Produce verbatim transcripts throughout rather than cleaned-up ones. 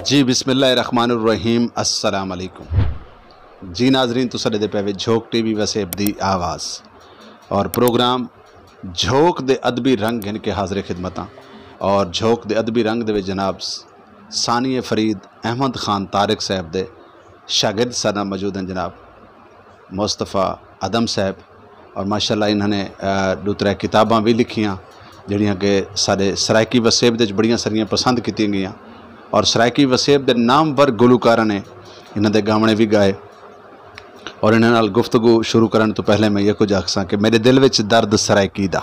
جی، بسم اللہ الرحمن الرحیم۔ السلام علیکم۔ جی ناظرین، تساں ݙیہدے پئے وے جھوک ٹی وی وسیب دی آواز اور پروگرام جھوک دے ادبی رنگ گھن کے حاضر خدمتاں۔ اور جھوک دے ادبی رنگ دے وچ جناب ثانی فرید احمد خان طارق صاحب دے شاگرد ساݙے نال موجود ہیں جناب مصطفیٰ ادم صاحب، اور ماشاءاللہ انہاں نے ݙو ترے کتاباں وی لکھیاں جیڑھیاں کہ ساݙے سرائیکی وسیب دے وچ بڑیاں ساریاں پسند کیتیاں گئیاں، اور سرائیکی وسیب دے نامور گلوکاراں نے انہاں دے گاوݨے وی گائے۔ اور انہاں نال گفتگو شروع کرݨ توں پہلے میں یہ کچھ آکھساں کہ میݙے دل وچ درد سرائیکی دا،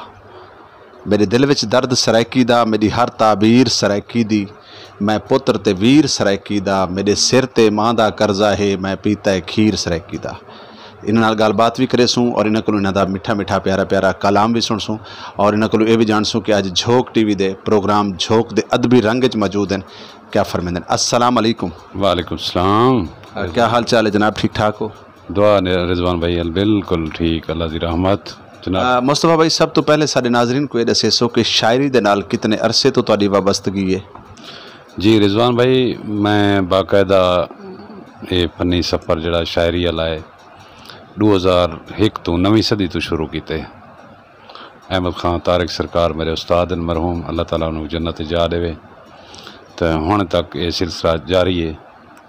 میݙے دل وچ درد سرائیکی دا، میݙی ہر تعبیر سرائیکی دی، میں پتر تے ویر سرائیکی دا، میݙے سر تے ماں دا قرضہ ہے، میں پیتا ہے کھیر سرائیکی دا۔ انہاں نال ڳالھ بات وی کریسوں اور انہاں کولوں انہاں دا مٹھا مٹھا پیارا پیارا کلام وی سݨسوں، اور انہاں کولوں اے وی ڄاݨسوں کہ اڄ جھوک ٹی وی دے پروگرام جھوک دے ادبی رنگ وچ موجود ہیں، کیا فرمیندے ہیں۔ السلام علیکم۔ وعلیکم السلام۔ کیا حال چال ہے جناب، ٹھیک ٹھاک ہو؟ دعا نے رضوان بھائی، بالکل ٹھیک، اللہ دی رحمت۔ جناب، مصطفیٰ بھائی، سب توں پہلے ساݙے ناظرین کوں اے ݙسیسو کہ شاعری دے نال کتنے عرصے توں تہاݙی وابستگی ہے؟ جی رضوان بھائی، میں باقاعدہ اے فنی سفر جیڑھا شاعری والا ہے، ݙو ہزار ہک توں، نویں صدی توں شروع کیتے۔ احمد خان طارق سرکار میرے استاد ہیں مرحوم، اللہ تعالیٰ انہاں کوں جنت جا ݙیوے۔ تے ہݨ تک اے سلسلہ جاری ہے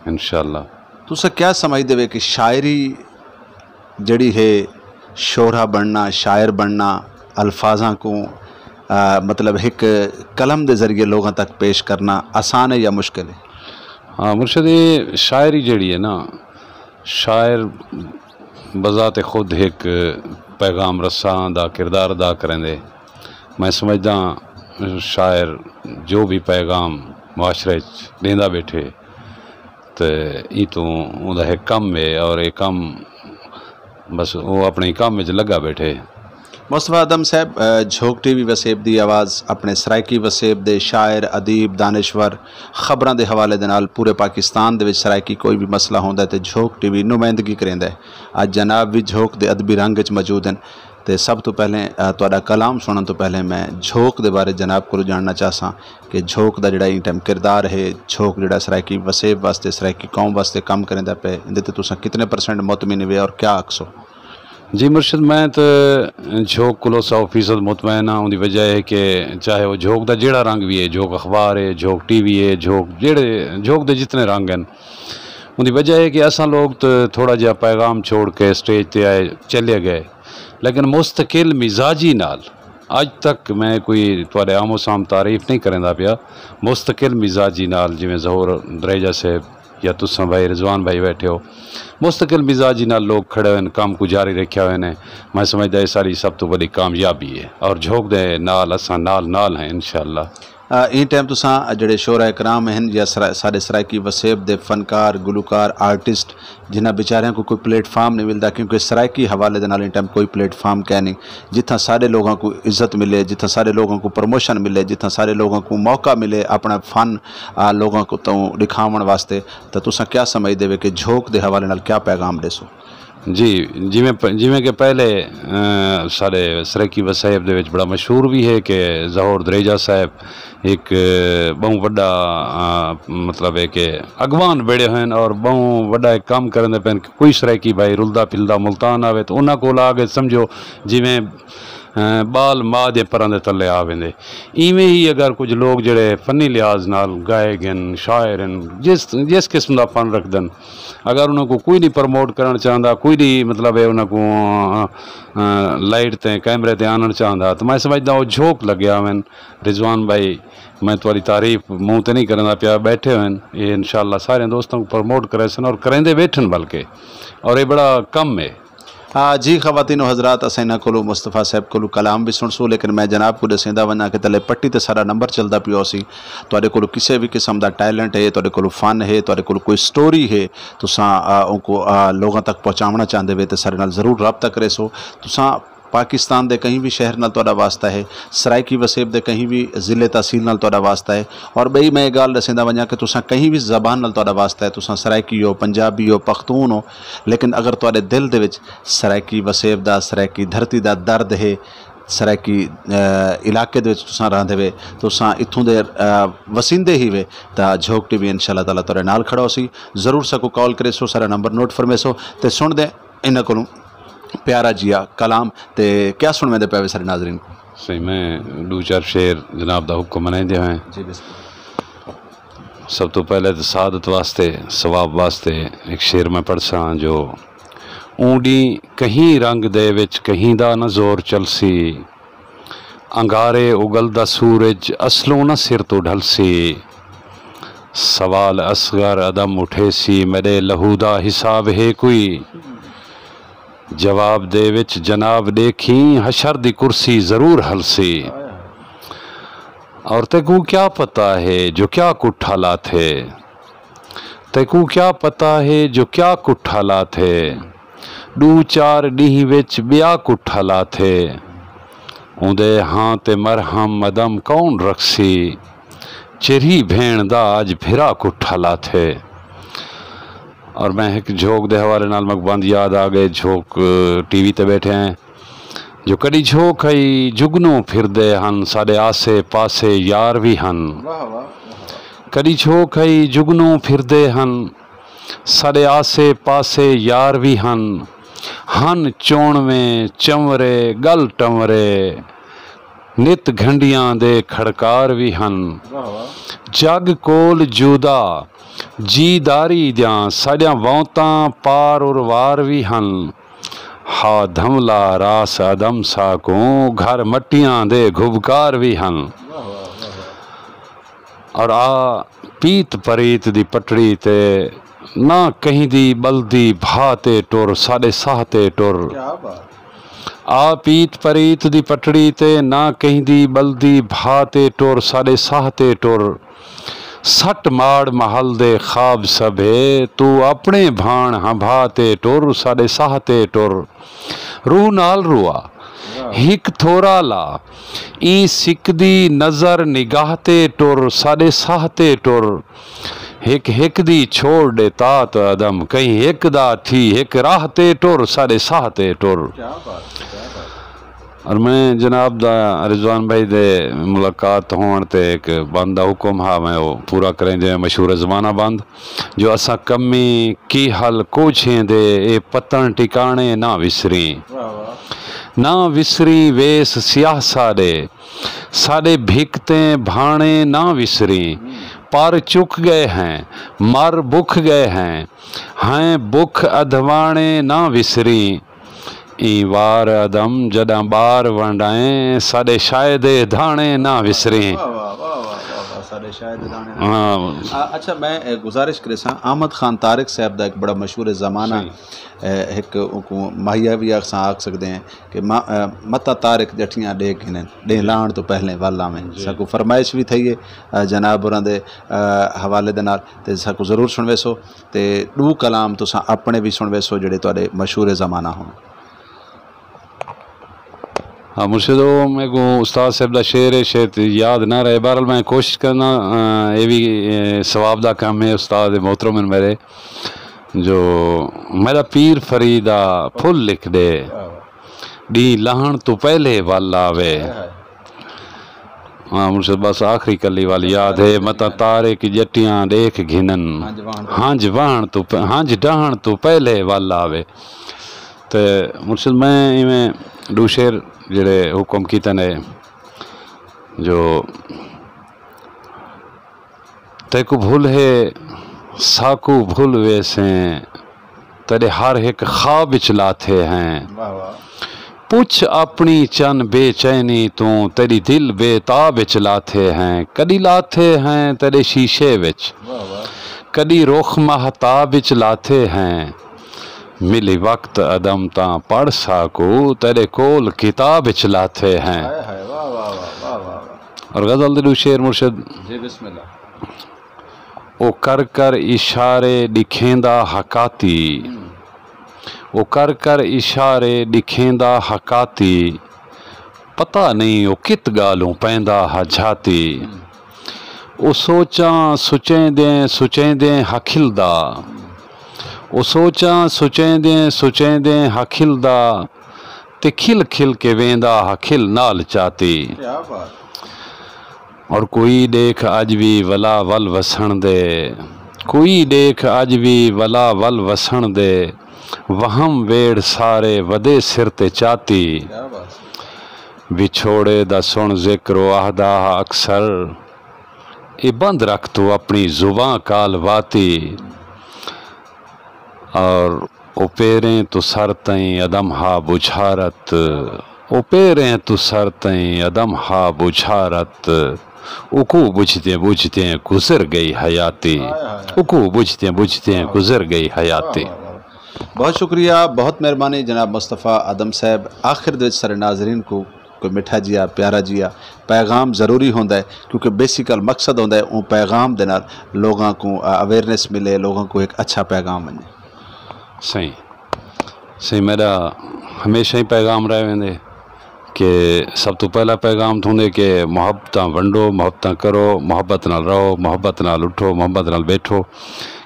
انشاءاللہ۔ تساں کیا سمجھدے وے کہ شاعری جیڑھی ہے، شعرا بݨنا، شاعر بݨنا، الفاظاں کوں، آ، مطلب ہک قلم دے ذریعے لوگاں تک پیش کرنا آسان ہے یا مشکل ہے؟ ہاں مرشد، اے شاعری جیڑھی ہے نا، شاعر بذات خود ہک پیغام رساں دا کردار ادا کریندے۔ میں سمجھداں شاعر جو بھی پیغام معاشرے اچ ݙیندا ٻیٹھے تے ایں توں اوندا ہک کم ہے، اور اے کم بس او اپݨے کم وچ لڳا ٻیٹھے۔ مصطفیٰ ادم صاحب، آ، جھوک ٹی وی وسیب دی آواز اپݨے سرائیکی وسیب دے شاعر، ادیب، دانشور، خبراں دے حوالے دے نال پورے پاکستان دے وچ سرائیکی کوئی وی مسئلہ ہوندا ہے تے جھوک ٹی وی نمائندگی کریندا ہے۔ اڄ جناب وی جھوک دے ادبی رنگ وچ موجود ہیں۔ تے سب توں پہلے، آ، تہاݙا کلام سݨݨ توں پہلے میں جھوک دے بارے جناب کولوں ڄاݨنا چاہساں کہ جھوک دا جیڑھا ایں ٹائم کردار ہے، جھوک جیڑھا سرائیکی وسیب واسطے، سرائیکی قوم واسطے کم کریندا پئے، ایندے تے تساں کتنے پرسنٹ مطمئن وے اور کیا آکھسو؟ جی مرشد، میں تے جھوک کولوں سو فیصد مطمئن ہاں۔ اوندی وجہ ہے کہ چاہے وہ جھوک دا جیڑھا رنگ وی ہے، جھوک اخبار ہے، جھوک ٹی وی ہے، جھوک جیڑھے، جھوک دے جتنے رنگ ہیں، اوندی وجہ ہے کہ اساں لوگ تے تھوڑا جہا پیغام چھوڑ کے سٹیج تے آئے، چلے گئے، لیکن مستقل مزاجی نال اڄ تک میں کوئی تہاݙے آمو سام تعریف نہیں کریندا پیا، مستقل مزاجی نال جویں ظہور دریجہ صاحب یا تساں بھائی رضوان بھائی بیٹھے ہو، مستقل مزاجی نال لوگ کھڑے ہوئے ہیں، کم کوں جاری رکھیا ہوئے نے۔ میں سمجھدا اے ساݙی سب توں وݙی کامیابی ہے اور جھوک دے نال اساں نال نال ہیں انشاءاللہ۔ آ، ایں ٹائم تساں جیڑھے شعراء کرام ہن یا سرا-، ساݙے سرائیکی وسیب دے فنکار، گلوکار، آرٹسٹ، جنہاں بیچاریاں کوں کوئی پلیٹ فارم نہیں ملدا، کیونکہ سرائیکی حوالے دے نال ایں ٹائم کوئی پلیٹ فارم کائنی، جتھاں ساݙے لوگاں کوں عزت ملے، جتھاں ساݙے لوگاں کوں پروموشن ملے، جتھاں ساݙے لوگاں کوں موقع ملے اپݨا فن، آ، لوگاں کوں توں ݙکھاوݨ واسطے، تاں تساں کیا سمجھدے وے کہ جھوک دے حوالے نال کیا پیغام ݙیسو؟ جی، جیویں پ-، جیویں کہ پہلے، آ، ساݙے سرائیکی وسائب دے وچ بڑا مشہور بھی ہے کہ ظہور دریجہ صاحب ہک ٻہوں وݙا، آ، مطلب ہے کہ اڳواݨ بݨے ہوئے ہن اور ٻہوں وݙا ہک کم کریندے پئے ہن کہ کوئی سرائیکی بھائی رلدا پھلدا ملتان آوے تاں انہاں کول آ کے سمجھو جیویں، آ، ٻال ماء دے پراں دے تلے آ ویندے۔ ایویں ہی اگر کجھ لوگ جیڑھے فنی لحاظ نال گائیک ہن، شاعر ہن، جس، جس قسم دا فن رکھدن، اگر انہاں کوں کوئی نہیں پروموٹ کرݨ چاہندا، کوئی نہیں مطلب ہے انہاں کوں، آ، آ، لائٹ تے کیمرے تے آنݨ چاہندا، تاں میں سمجھدا او جھوک لڳے آون۔ رضوان بھائی، میں تہاݙی تعریف منہ تے نہیں کریندا پیا، ٻیٹھے ہوئن، اے انشاءاللہ سارے دوستاں کوں پروموٹ کریسن اور کریندے ٻیٹھن بلکہ، اور اے بڑا کم ہے۔ آ، جی خواتین و حضرات، اساں انہاں کولوں، مصطفیٰ صاحب کولوں کلام وی سݨسوں، لیکن میں جناب کوں ݙسیندا ونڄاں کہ تلے پٹی تے ساݙا نمبر چلدا پیو سی۔ تہاݙے کولوں کسے وی قسم دا ٹیلنٹ ہے، تہاݙے کولوں فن ہے، تہاݙے کولوں کوئی سٹوری ہے، تساں، آ، اونکوں، آ، لوگاں تک پہنچاوݨا چاہندے وے تے ساݙے نال ضرور رابطہ کریسو۔ تساں پاکستان دے کہیں وی شہر نال تہاݙا واسطہ ہے، سرائیکی وسیب دے کہیں وی ضلع تحصیل نال تہاݙا واسطہ ہے۔ اور ٻئی میں اے ڳالھ ݙسیندا ونڄاں کہ تساں کہیں وی زبان نال تہاݙا واسطہ ہے، تساں سرائیکی ہو، پنجابی ہو، پختون ہو، لیکن اگر تہاݙے دل دے وچ سرائیکی وسیب دا، سرائیکی دھرتی دا درد ہے، سرائیکی علاقے دے وچ تساں رہندے وے، تساں اتھوں دے وسیندے ہی وے، تاں جھوک ٹی وی انشاءاللہ تعالیٰ تہاڈے نال کھڑا ہوسی۔ ضرور ساکوں کال کریسو، سارا نمبر نوٹ فرمیسو، تے سنڑدے انہاں کولوں پیارا جیا کلام۔ تے کیا سنڑویندے پئے وے سارے ناظرین کوں؟ سائیں، میں ڈو چار شعر جناب دا حکم منائیندے ہوئے۔ جی، بسم اللہ۔ سب توں پہلے تے سعادت واسطے، ثواب واسطے ہک شعر میں پڑھساں جو اوں ڈینہہ کہیں رنگ دے وچ کہیں دا نہ زور چلسی، انگارے اگلدا سورج اصلوں نہ سر توں ڈھلسی۔ سوال اصغر عدم اٹھیسی، میڈے لہو دا حساب ہے کوئی؟ جواب دے وچ جناب ڈیکھیں، حشر دی کرسی ضرور ہلسی۔ اور تیکوں کیا پتہ ہے جو کیا کٹھا لاتھے؟ تیکوں کیا پتہ ہے جو کیا کٹھا لاتھے؟ ڈو چار ڈینہہ وچ بیا کٹھا لاتھے۔ اوندے ہاں تے مرہم عدم کون رکھسی؟ چرھی بھیݨ دا اڄ بھرا کٹھا لاتھے۔ اور میں ہک جھوک دے حوالے نال میکوں بند یاد آ ڳئے، جھوک، ٹی وی تے ٻیٹھے ہیں، جو کݙی جھوک ہئی جگنوں پھردے ہن، ساݙے آسے پاسے یار وی ہن۔ واہ واہ۔ کݙی جھوک ہئی جگنوں پھردے ہن، ساݙے آسے پاسے یار وی ہن۔ ہن چوݨویں چنورے ڳل ٹنورے، نت گھنڈیاں دے کھڑکار وی ہن۔ واہ واہ۔ جڳ کول جودا جی داری دیاں، ساݙیاں وونتاں پار اروار وی ہن۔ ہا دھملا راس عدم ساکوں، گھر مٹیاں دے گھبکار وی ہن۔ واہ واہ، واہ واہ۔ اور آ پیت پریت دی پٹڑی تے، نہ کہیں دی ٻلدی بھا تے ٹر، ساݙے ساہ تے ٹر۔ کیا بات۔ آ پیت پریت دی پٹڑی تے، نہ کہیں دی ٻلدی بھا تے ٹر، ساݙے ساہ تے ٹر۔ سٹ ماڑ محل دے خواب سبھے، توں اپݨے بھاݨ ہنبھا تے ٹر، ساݙے ساہ تے ٹر۔ روح نال روا، ہک تھورا لا، ایں سکدی نظر نگاہ تے ٹر، ساݙے ساہ تے ٹر۔ ہک ہک دی چھوڑ ݙے تات عدم، کہیں ہک دا تھی ہک راہ تے ٹر، ساݙے ساہ تے ٹر۔ کیا بات ہے، کیا بات ہے۔ اور میں جناب دا رضوان بھائی دے ملاقات ہووݨ تے ہک بند دا حکم ہا، میں او پورا کریندے ہوئے، مشہور زمانہ بند، جو اساں کمی کی حل کوچھیں دے، اے پتݨ ٹکاݨے نہ وسریں۔ واہ واہ۔ نہ وسریں ویس سیاہ ساݙے، ساݙے بھکتیں بھاݨے نہ وسریں۔ ہوں۔ پر چک ڳئے ہیں، مر بکھ ڳئے ہیں، ہیں بکھ ادھواݨے نہ وسریں۔ ایں وار عدم جݙاں ٻار ونڈائیں، ساݙے شاہ دے دھاݨے نہ وسریں۔ واہ، واہ، واہ، واہ، واہ، واہ، ساݙے شاہ دے دھاݨے نہ ہاں۔ وسریں۔ آ، اچھا، میں، اے، گزارش کریساں، احمد خان طارق صاحب دا ہک بڑا مشہور زمانہ، صحیح۔ اے، ہک اونکوں ماہیہ وی آکھساں، آکھ سڳدے ہیں کہ ما-، اے، متاں طارق ڄٹیاں ݙیکھ گھنن، ݙینہہ جی۔ لہݨ توں پہلے ول آویں۔ جی۔ ساکوں فرمائش وی تھئی ہے، اے، جناب ہوراں دے، اے، حوالے دے نال، تے ساکوں ضرور سݨویسو۔ تے ݙو کلام تساں اپݨے وی سݨویسو جیڑھے تہاݙے مشہور زمانہ ہن۔ ہاں مرشد، او میکوں استاد صاحب دا شعر ہے، شاید یاد نہ رہے، بہرحال میں کوشش کرنا، آ، اے وی، اے، ثواب دا کم ہے، استاد محترم ہن میرے، جو میݙا پیر فرید آ پھل لکھ ݙے، ݙینہہ لہݨ توں پہلے ول آوے۔ ہاں مرشد، بس آخری کلی والی یاد ہے، متاں طارق ڄٹیاں ݙیکھ گھنن، ہنج وہݨ توں پ-، ہنج ڈہݨ توں پہلے ول آوے۔ تے مرشد، میں ایویں ݙو شعر جیڑھے حکم کیتے نے جو تیکوں بھل ہے، ساکوں بھل ویسیں، تیݙے ہر ہک خواب اچ لاتھے ہیں۔ واہ واہ۔ پچھ اپݨی چن بے چینی توں، تیݙی دل بے تاب اچ لاتھے ہیں۔ کݙی لاتھے ہیں تیݙے شیشے وچ، واہ واہ۔ کݙی رخ مہتاب اچ لاتھے ہیں۔ ملی وقت عدم تاں پڑھ ساکوں، تیݙے کول کتاب اچ لاتھے ہیں۔ ہائے ہائے، واہ واہ واہ، واہ واہ واہ۔ اور غزل دے ݙو شعر مرشد۔ جی، بسم اللہ۔ او کر کر اشارے ݙکھیندا ہا کاتی، ہوں۔ او کر کر اشارے ݙکھیندا ہا کاتی، پتہ نئیں او کت ڳالھوں پیندا ہا جھاتی۔ ہوں۔ او سوچاں سچیندیں سچیندیں ہا کھلدا، ہوں۔ او سوچاں سچیندیں سچیندیں ہا کھلدا، تے کھل کھل کے ویندا ہا کھل نال چاتی۔ اور کوئی ݙیکھ اڄ وی ولا ول وسݨ دے، کوئی ݙیکھ اڄ وی ولا ول وسݨ دے، وہم ویڑھ سارے ودے سر تے چاتی۔ وچھوڑے دا سݨ ذکر او آہدا ہا اکثر، اے بند رکھ توں اپݨی زباں کال واتی۔ اور او پیریں توں سر تئیں عدم ہا بچھارت، او پیریں توں سر تئیں عدم ہا بچھارت، اکوں بجھدیں بجھدیں گزر ڳئی حیاتی، اکوں بجھدیں بجھدیں گزر ڳئی حیاتی۔ بہت شکریہ، بہت مہربانی جناب مصطفیٰ آدم صاحب۔ آخر دے وچ سارے ناظرین کو کوئی مٹھا جیا، پیارا جیا پیغام ضروری ہوندا ہے، کیونکہ بیسیکل مقصد ہوندا ہے اوں پیغام دے نال لوگاں کو اویئرنیس ملے، لوگاں کو ایک اچھا پیغام ونجے۔ سائیں، سائیں میرا ہمیشہ ہی پیغام رہ ویندے کہ سب تو پہلا پیغام تھوندے کہ محبتاں ونڈو، محبتاں کرو، محبت نال رہو، محبت نال اٹھو، محبت نال بیٹھو،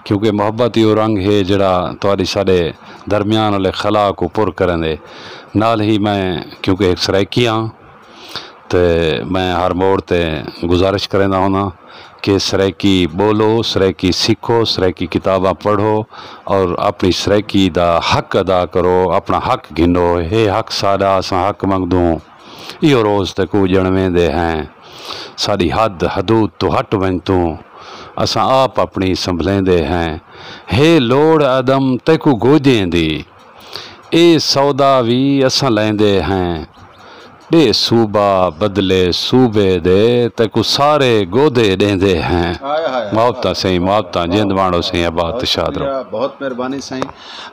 کیونکہ محبت ہی وہ رنگ ہے جڑا تہاڈی ساڈے درمیان والے خلا کو پر کریں دے۔ نال ہی میں کیونکہ ایک سرائیکی ہاں، تے میں ہر موڑ تے گزارش کریندا ہوندا کہ سرائیکی ٻولو، سرائیکی سکھو، سرائیکی کتاباں پڑھو اور اپݨی سرائیکی دا حق ادا کرو، اپݨا حق گھنو۔ ہے حق ساݙا، اساں حق منگدوں۔ ایہو روز تیکوں اڄݨ ویندے ہیں، ساݙی حد حدود توں ہٹ ونڄ توں، اساں آپ اپݨی سنبھلیندے ہیں۔ ہے لوڑ عدم تیکوں گودیں دی، اے سودا وی اساں لیندے ہیں۔ ݙے صوبہ بدلے صوبے دے، تیکوں سارے گودے ݙیندے ہیں۔ محبتاں سئیں، محبتاں، جند ماݨو سئیں، آباد تے شاد رہو۔ بہت مہربانی سائیں۔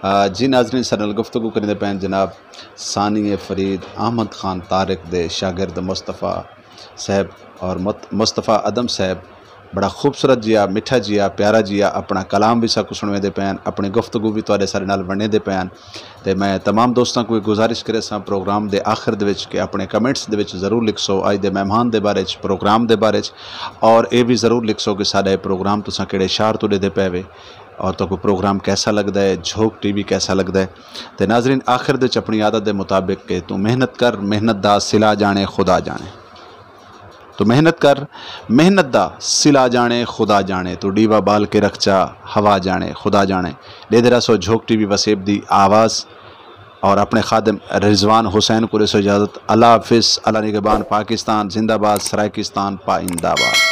آ، جی ناظرین، ساݙے نال گفتگو کریندے پئے ہن جناب ثانی فرید احمد خان طارق دے شاگرد مصطفیٰ صاحب اور مت-، مصطفیٰ ادم صاحب۔ بڑا خوبصورت جیا، مٹھا جیا، پیارا جیا اپݨا کلام وی ساکوں سݨویندے پئے ہن، اپݨی گفتگو وی تہاݙے سارے نال ونڈیندے پئے ہن۔ تے میں تمام دوستاں کوں ایک گزارش کریساں پروگرام دے آخر دے وچ کہ اپݨے کمنٹس دے وچ ضرور لکھسو اڄ دے مہمان دے بارے وچ، پروگرام دے بارے وچ، اور اے وی ضرور لکھسو کہ ساݙا اے پروگرام تساں کیڑھے شہر توں ݙیہدے پئے وے اور تہاکوں پروگرام کیسا لڳدا ہے، جھوک ٹی وی کیسا لڳدا ہے۔ تے ناظرین، آخر دے وچ اپݨی عادت دے مطابق کہ توں محنت کر، محنت دا صلہ ڄاݨے خدا ڄاݨے۔ توں محنت کر، محنت دا صلہ ڄاݨے خدا ڄاݨے، توں ݙیوا ٻال کے رکھ چا، ہوا ڄاݨے خدا ڄاݨے۔ ݙیہدے رہسو جھوک ٹی وی وسیب دی آواز اور اپݨے خادم رضوان حسین کوں ݙیسو اجازت۔ اللہ حافظ، اللہ نگہبان، پاکستان زندہ باد، سرائیکستان پائندہ باد۔